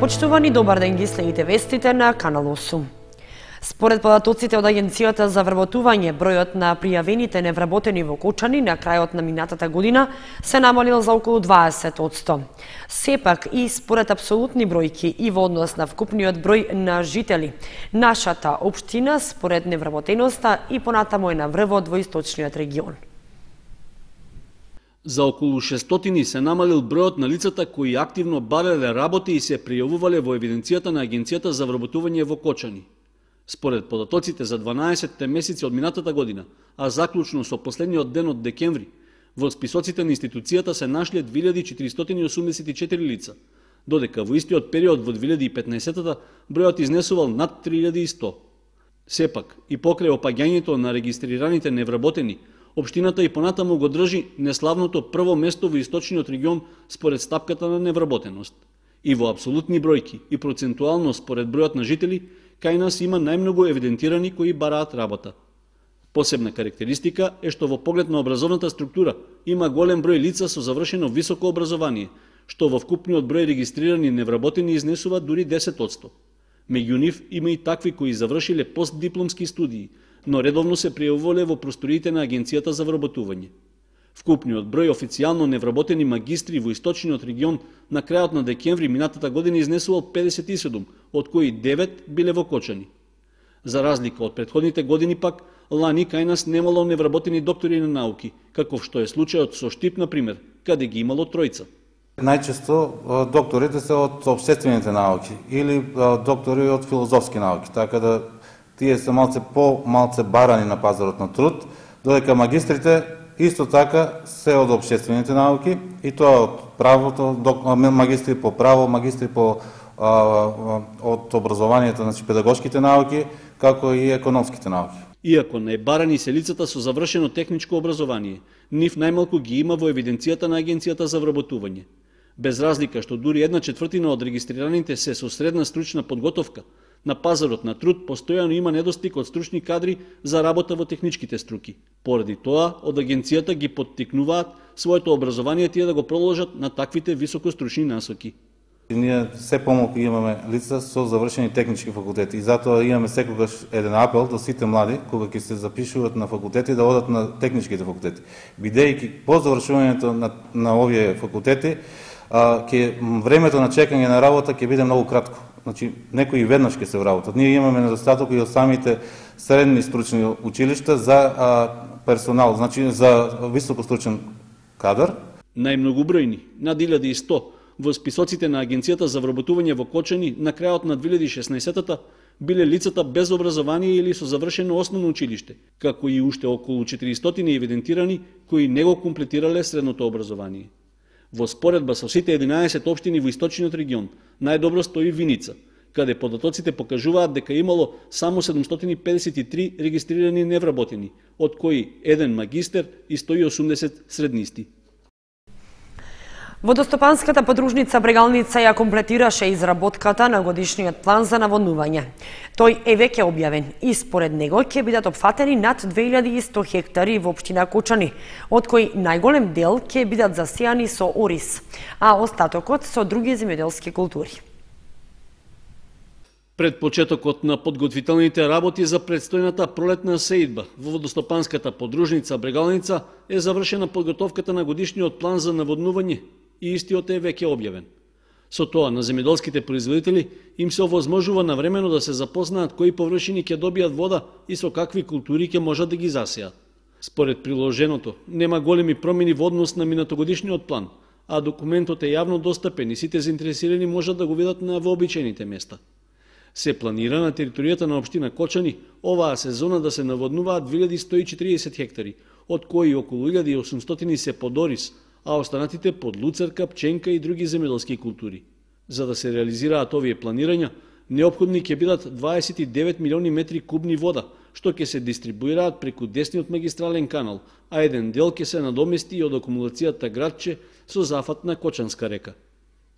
Почитувани, добар ден, ги следите вестите на Канал 8. Според податоците од Агенцијата за вработување, бројот на пријавените невработени во Кочани на крајот на минатата година се намалил за околу 20%. Сепак и според апсолутни бројки и во однос на вкупниот број на жители, нашата општина според невработеноста и понатамо е на врвот во источниот регион. За околу 600 се намалил бројот на лицата кои активно барале работи и се пријавувале во евиденцијата на Агенцијата за вработување во Кочани. Според податоците за 12 месеци од минатата година, а заклучно со последниот ден од декември, во списоците на институцијата се нашле 2484 лица, додека во истиот период во 2015-та бројот изнесувал над 3100. Сепак, и покрај опаѓањето на регистрираните невработени, општината и понатаму го држи неславното прво место во источниот регион според стапката на невработеност. И во апсолутни бројки и процентуално според бројот на жители, кај нас има најмногу евидентирани кои бараат работа. Посебна карактеристика е што во поглед на образовната структура има голем број лица со завршено високо образование, што во вкупниот број регистрирани невработени изнесува дури 10%. Меѓу нив има и такви кои завршиле постдипломски студии, но редовно се пријавувале во просториите на Агенцијата за вработување. Вкупниот број официјално невработени магистри во источниот регион на крајот на декември минатата година изнесувал 57, од кои 9 биле во Кочани. За разлика од претходните години пак, лани кај нас немало невработени доктори на науки, каков што е случајот со Штип, например, каде ги имало тројца. Најчесто докторите се од општествените науки или доктори од филозофски науки, така да тие се малце барани на пазарот на труд, додека магистрите исто така се од општествените науки и тоа од правото, магистри по право, магистри по од образованието, значи педагошките науки, како и економските науки. Иако најбарани се лицата со завршено техничко образование, нив најмалку ги има во евиденцијата на Агенцијата за вработување. Без разлика што дури 1/4 од регистрираните се со средна стручна подготовка, на пазарот на труд постојано има недостиг од стручни кадри за работа во техничките струки. Поради тоа, од Агенцијата ги поттикнуваат своето образование тие да го продолжат на таквите високостручни насоки. Ние се помалку имаме лица со завршени технички факултети и затоа имаме секогаш еден апел до сите млади, кога ќе се запишуваат на факултети, да одат на техничките факултети. Бидејќи по завршувањето на овие факултети, времето на чекање на работа ќе биде многу кратко. Значи, некои веднаш ќе се вработат. Ние имаме недостаток и од самите средни стручни училишта за персонал, значи за високостручен кадар. Најмногубројни, над 1100, во списоците на Агенцијата за вработување во Кочани на крајот на 2016-та биле лицата без образование или со завршено основно училиште, како и уште околу 400 евидентирани кои не го комплетирале средното образование. Во споредба со сите 11 општини во источниот регион, најдобро стои Виница, каде податоците покажуваат дека имало само 753 регистрирани невработени, од кои 1 магистер и 180 среднисти. Водостопанската подружница Брегалница ја комплетираше изработката на годишниот план за наводнување. Тој е веќе објавен и според него ќе бидат опфатени над 2100 хектари во општина Кочани, од кои најголем дел ќе бидат засејани со ориз, а остатокот со други земјоделски култури. Пред почетокот на подготвителните работи за предстојната пролетна сеидба во водостопанската подружница Брегалница е завршена подготовката на годишниот план за наводнување и истиот е веќе објавен. Со тоа на земјоделските производители им се овозможува навремено да се запознаат кои површини ќе добијат вода и со какви култури ќе можат да ги засеат. Според приложеното, нема големи промени во однос на минатогодишниот план, а документот е јавно достапен и сите заинтересирани можат да го видат на вообичаените места. Се планира на територијата на општина Кочани оваа сезона да се наводнуваат 2140 хектари, од кои околу 1800 се под ориз, а останатите под луцерка, пченка и други земјоделски култури. За да се реализираат овие планирања, неопходни ќе бидат 29 милиони метри кубни вода, што ќе се дистрибуираат преку десниот магистрален канал, а еден дел ќе се надомести и од акумулацијата Градче со зафат на Кочанска река.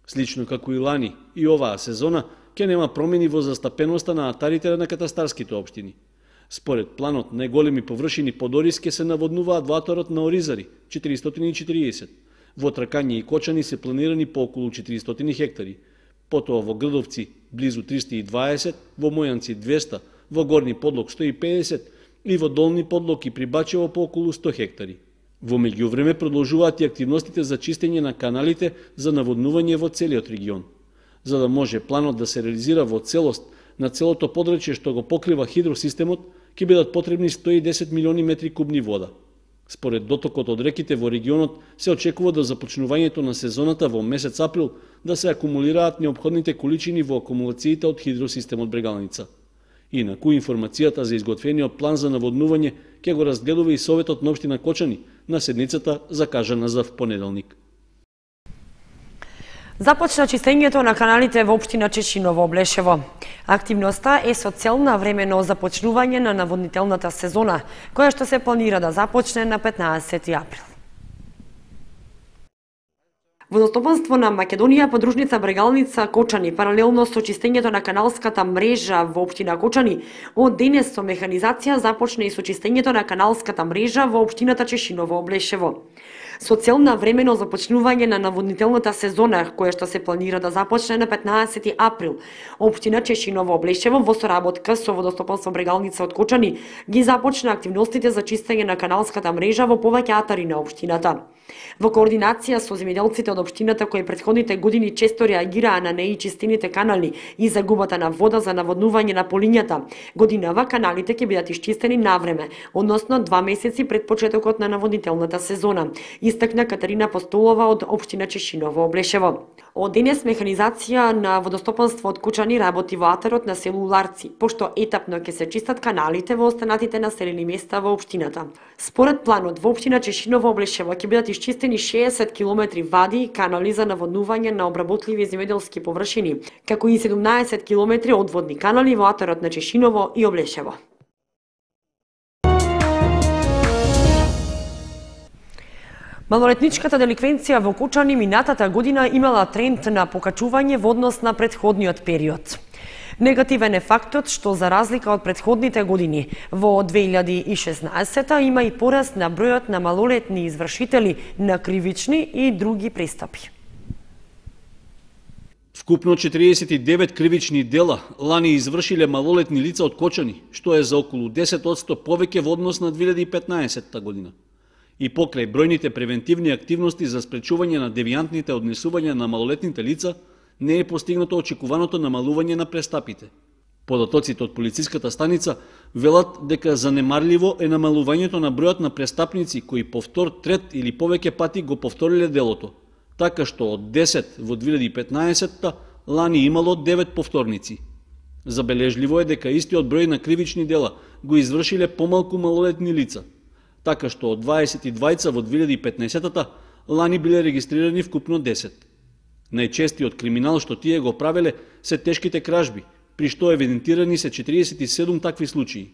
Слично како и лани, и оваа сезона ќе нема промени во застапеноста на атарите на катастарските општини. Според планот, најголеми површини под ориз ќе се наводнуваат во аторот на Оризари, 440. Во Тракање и Кочани се планирани по околу 400 хектари. потоа во Грдовци близу 320, во Мојанци 200, во Горни Подлог 150 и во Долни Подлог и при Бачево по околу 100 хектари. Во меѓувреме продолжуваат и активностите за чистење на каналите за наводнување во целиот регион. За да може планот да се реализира во целост на целото подрачје што го покрива хидросистемот, ќе бидат потребни 110 милиони метри кубни вода. Според дотокот од реките во регионот се очекува до започнувањето на сезоната во месец април да се акумулираат неопходните количини во акумулациите од хидросистемот Брегалница. Инаку информацијата за изготвениот план за наводнување ќе го разгледува и Советот на општина Кочани на седницата закажана за понеделник. Започна чистењето на каналите во општина Чешиново, Облешево. Активноста е со цел на времено започнување на наводнителната сезона, која што се планира да започне на 15 април. Водостопанство на Македонија, подружница Брегалница Кочани, паралелно со чистењето на каналската мрежа во општина Кочани, од денес со механизација започне и со чистењето на каналската мрежа во општината Чешиново, Облешево. Со цел на времено започнување на наводнителната сезона, која што се планира да започне на 15 април, општина Чешиново, Облешево во соработка со Водостопанство Брегалница од Кочани ги започна активностите за чистење на каналската мрежа во повеќе атари на општината. Во координација со земјоделците од општината кои претходните години често реагираа на неичистените канали и загубата на вода за наводнување на полињата, годинава каналите ќе бидат исчистени навреме, односно 2 месеци пред почетокот на наводнителната сезона, истакна Катерина Постолова од општина Чешиново, Облешево. Од денес механизација на водостопанство од Кочани работи во атарот на село Ларци, пошто етапно ќе се чистат каналите во останатите населени места во општината. Според планот во општина Чешиново, Облешево ќе бидат исчистени 60 километри вади и канали за наводнување на обработливи земјоделски површини, како и 17 километри одводни канали во атарот на Чешиново и Облешево. Малолетничката деликвенција во Кочани минатата година имала тренд на покачување во однос на претходниот период. Негативен е фактот што за разлика од претходните години, во 2016 има и пораст на бројот на малолетни извршители на кривични и други престапи. Вкупно 49 кривични дела лани извршиле малолетни лица од Кочани, што е за околу 10% повеќе во однос на 2015 година. И покрај бројните превентивни активности за спречување на девијантните однесувања на малолетните лица, не е постигнато очекуваното намалување на престапите. Податоците од полициската станица велат дека занемарливо е намалувањето на бројот на престапници кои повтор, трет или повеќе пати го повториле делото, така што од 10 во 2015 лани имало 9 повторници. Забележливо е дека истиот број на кривични дела го извршиле помалку малолетни лица, така што од 22 во 2015 лани биле регистрирани вкупно 10. Најчестиот криминал што тие го правеле се тешките кражби, при што евидентирани се 47 такви случаи.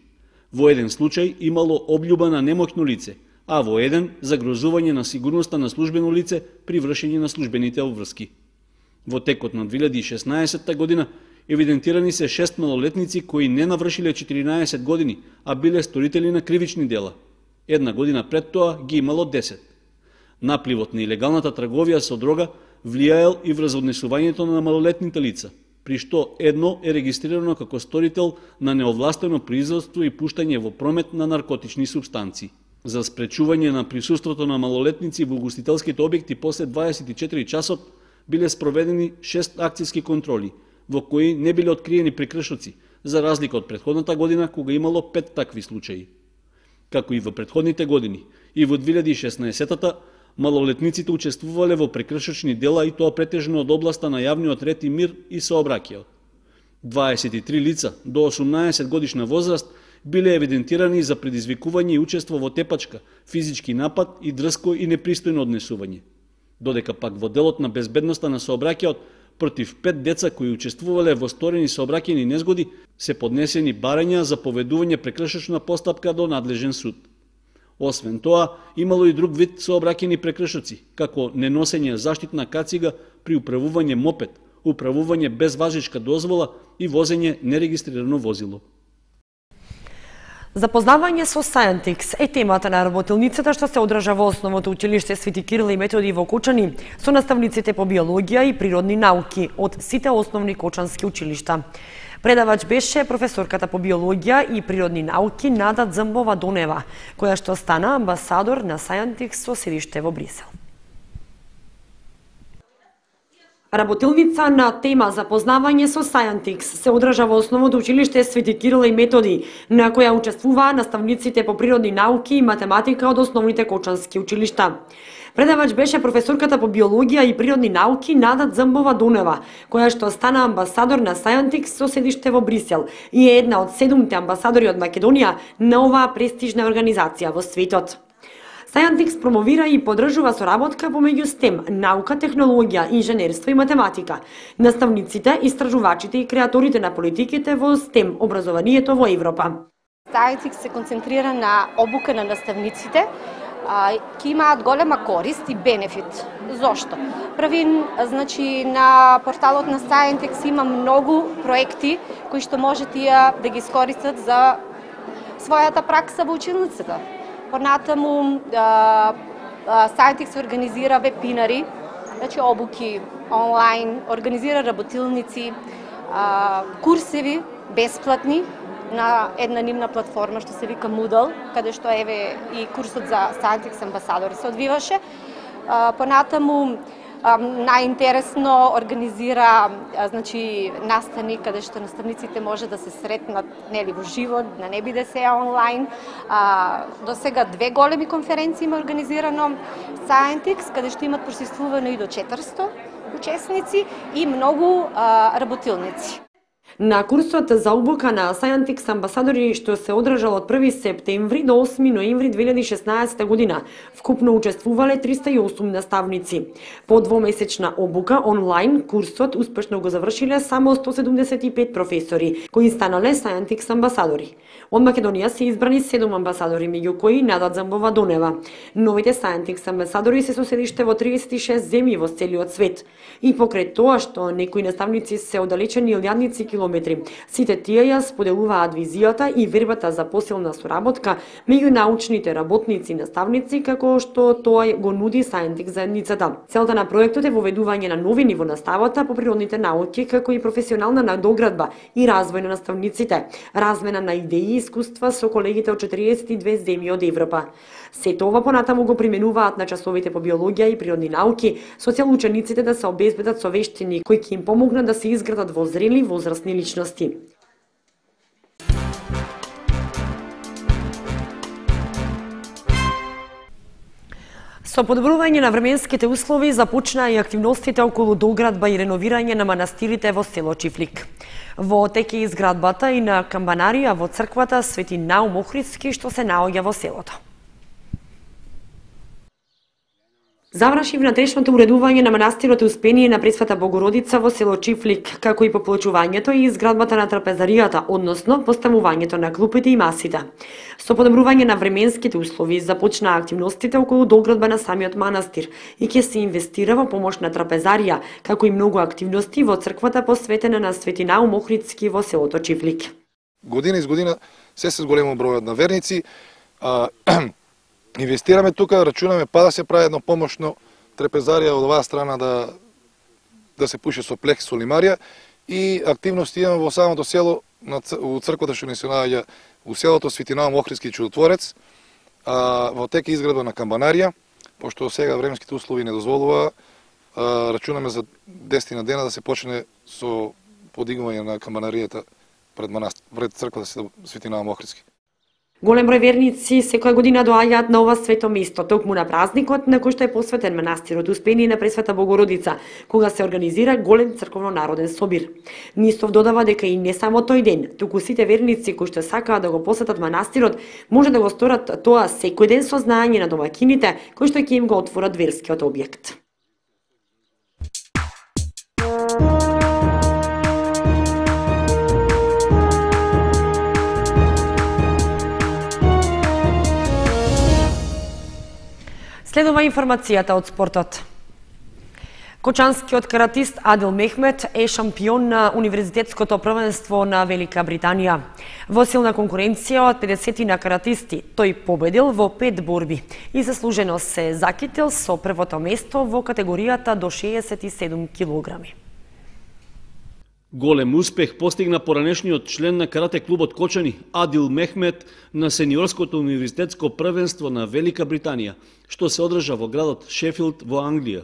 Во еден случај имало облјуба на немоќно лице, а во еден загрозување на сигурноста на службено лице при вршење на службените обврски. Во текот на 2016 година евидентирани се 6 малолетници кои не навршиле 14 години, а биле сторители на кривични дела. Една година пред тоа ги имало 10. Напливот на илегалната трговија со дрога влијаел и врз однесувањето на малолетните лица, при што едно е регистрирано како сторител на неовластено производство и пуштање во промет на наркотични супстанции. За спречување на присуството на малолетници во угостителските објекти после 24 часот биле спроведени 6 акцијски контроли, во кои не биле откриени прекршоци, за разлика од претходната година кога имало 5 такви случаи. Како и во претходните години, и во 2016-та, малолетниците учествувале во прекршочни дела и тоа претежно од областа на јавниот ред и мир и сообраќајот. 23 лица до 18 годишна возраст биле евидентирани за предизвикување и учество во тепачка, физички напад и дрско и непристојно однесување. Додека пак во делот на безбедноста на сообраќајот против 5 деца кои учествувале во сторени сообраќајни незгоди се поднесени барања за поведување прекршочна постапка до надлежен суд. Освен тоа, имало и друг вид сообраќајни прекршоци, како неносење заштитна кацига при управување мопед, управување без важичка дозвола и возење нерегистрирано возило. Запознавање со Scientix е темата на работилницата што се одржа во Основното училиште Свети Кирил и Методи во Кочани со наставниците по биологија и природни науки од сите основни кочански училишта. Предавач беше професорката по биологија и природни науки Нада Дзамбова Донева, која што стана амбасадор на Scientix со седиште во Брисел. Работилница на тема запознавање со Scientix се одржа во Основното училиште Свети Кирил и Методи, на која учествуваа наставниците по природни науки и математика од основните кочански училишта. Предавач беше професорката по биологија и природни науки Нада Дзамбова Донева, која што стана амбасадор на Scientix со седиште во Брисел и е една од 7 амбасадори од Македонија на оваа престижна организација во светот. Scientix промовира и поддржува соработка помеѓу STEM, наука, технологија, инженерство и математика, наставниците, истражувачите и креаторите на политиките во STEM образованието во Европа. Scientix се концентрира на обука на наставниците, ки имаат голема корист и бенефит. Зошто? Први, значи, на порталот на Scientix има многу проекти кои што може тие да ги искористат за својата пракса во училницата. Понатаму Scientix организира вебинари, значи обуки онлайн, организира работилници, курсеви бесплатни на една нивна платформа што се вика Moodle, каде што еве и курсот за Scientix амбасадори се одвиваше. Понатаму најинтересно организира значи настани каде што наставниците може да се сретнат нели во живот, да не биде се онлайн. До сега 2 големи конференции има организирано Scientix, каде што имат присуствувано и до 400 учесници и многу работилници. На курсот за обука на Scientix амбасадори што се одржал од 1 септември до 8 ноември 2016 година, вкупно учествувале 308 наставници. По двомесечна обука онлайн курсот успешно го завршиле само 175 професори, кои станале Scientix амбасадори. Од Македонија се избрани 7 амбасадори, меѓу кои Нада Дзамбова Донева. Новите Scientix амбасадори се со седиште во 36 земји во целиот свет. И покрај тоа што некои наставници се оддалечени илјадници километри, сите тие ја споделуваат визијата и вербата за посилна соработка меѓу научните работници и наставници, како што тоа го нуди Scientix заедницата. Целта на проектот е воведување на нови ниво наставата по природните науки, како и професионална надоградба и развој на наставниците, размена на идеи и искуства со колегите од 42 земји од Европа. Сето ова понатаму го применуваат на часовите по биологија и природни науки, со цел учениците да се обезбедат со вештини кои ќе им помогнат да се изградат во зрели возрастни личности. Со подобрување на временските услови започнаа и активностите околу доградба и реновирање на манастирите во село Чифлик. Во тек е изградбата и на камбанарија во црквата Свети Наум Охридски што се наоѓа во селото. Заврши внатрешното уредување на манастирот Успение на Пресвета Богородица во село Чифлик, како и поплачувањето и изградбата на трапезаријата, односно поставувањето на клупите и масите. Со подобрување на временските услови започнаа активностите околу доградба на самиот манастир и ќе се инвестира во помош на трапезарија, како и многу активности во црквата посветена на Свети Наум Охридски во селото Чифлик. Година из година се зголемува бројот на верници. Инвестираме тука, рачунаме па да се прави едно помошно трапезарија од оваа страна да се пуше со плех, со лимарија и активности имаме во самото село, у црквата што ни се наоѓа у селото Свети Наум Охридски Чудотворец, во тек е изградба на камбанарија, пошто сега временските услови не дозволува, рачунаме за 10 дена да се почне со подигнување на камбанаријата пред црквата Свети Наум Охридски. Голем број верници секоја година доаѓаат на ова свето место, токму на празникот на кој што е посветен манастирот Успение на Пресвета Богородица, кога се организира голем црковно-народен собир. Нистов додава дека и не само тој ден, туку сите верници кои што сакаат да го посетат манастирот, може да го сторат тоа секој ден со знаење на домакините кои што ќе им го отворат верскиот објект. Следува информацијата од спортот. Кочанскиот каратист Адил Мехмет е шампион на универзитетското првенство на Велика Британија. Во силна конкуренција од 50 на каратисти, тој победил во 5 борби и заслужено се закитил со првото место во категоријата до 67 килограми. Голем успех постигна поранешниот член на карате клубот Кочани Адил Мехмет на сениорското универзитетско првенство на Велика Британија, што се одржа во градот Шефилд во Англија.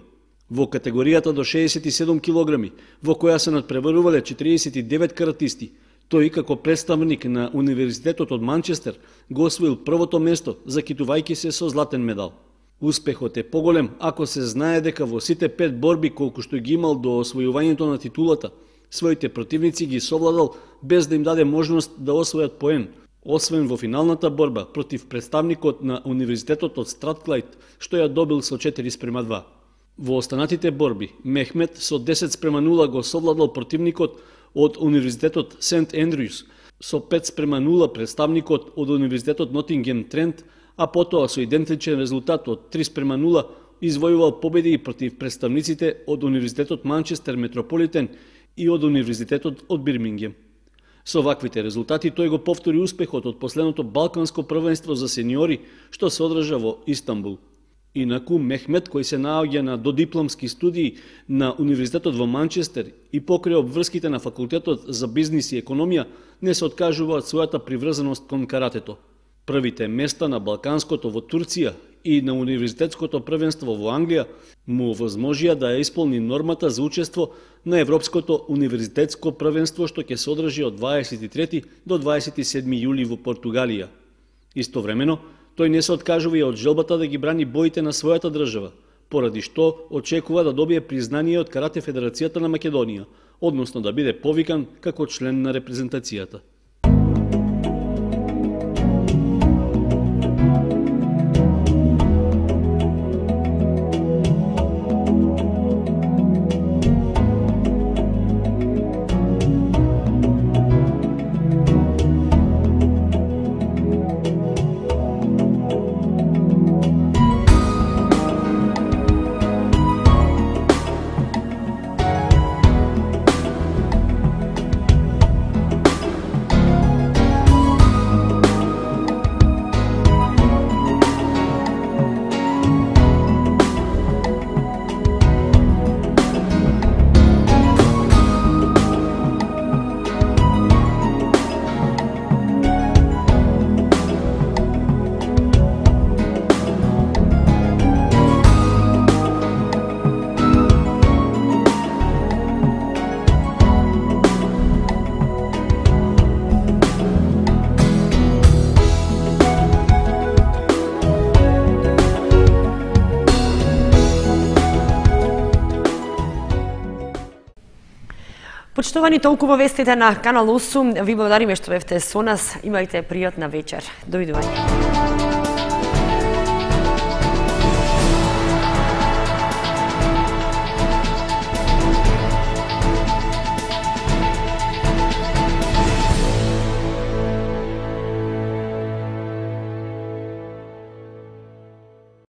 Во категоријата до 67 килограми, во која се надпреварувале 49 каратисти, тој како представник на Универзитетот од Манчестер го освоил првото место, закитувајќи се со златен медал. Успехот е поголем ако се знае дека во сите 5 борби колку што ги имал до освојувањето на титулата, своите противници ги совладал без да им даде можност да освојат поен, освен во финалната борба против представникот на Универзитетот од Стратклајд, што ја добил со 4:2. Во останатите борби, Мехмет со 10:0 го совладал противникот од Универзитетот Сент Ендрюс, со 5:0 представникот од Универзитетот Нотингем Трент, а потоа со идентичен резултат од 3:0 извојувал победи против представниците од Универзитетот Манчестер Метрополитен и од Универзитетот од Бирмингем. Со ваквите резултати тој го повтори успехот од последното Балканско првенство за сениори што се одржа во Истанбул. Инаку, Мехмет, кој се наоѓа на додипломски студии на Универзитетот во Манчестер и покрај обврските на Факултетот за бизнис и економија, не се откажува од својата приврзаност кон каратето. Првите места на Балканското во Турција и на Универзитетското првенство во Англија му возможија да ја исполни нормата за учество на Европското универзитетско првенство што ќе се одржи од 23 до 27 јули во Португалија. Истовремено, тој не се откажува и од желбата да ги брани боите на својата држава, поради што очекува да добие признание од Карате Федерацијата на Македонија, односно да биде повикан како член на репрезентацијата. Почитувани, толку вестите на Канал 8. Ви благодариме што бевте со нас. Имајте пријатна вечер. Довидување.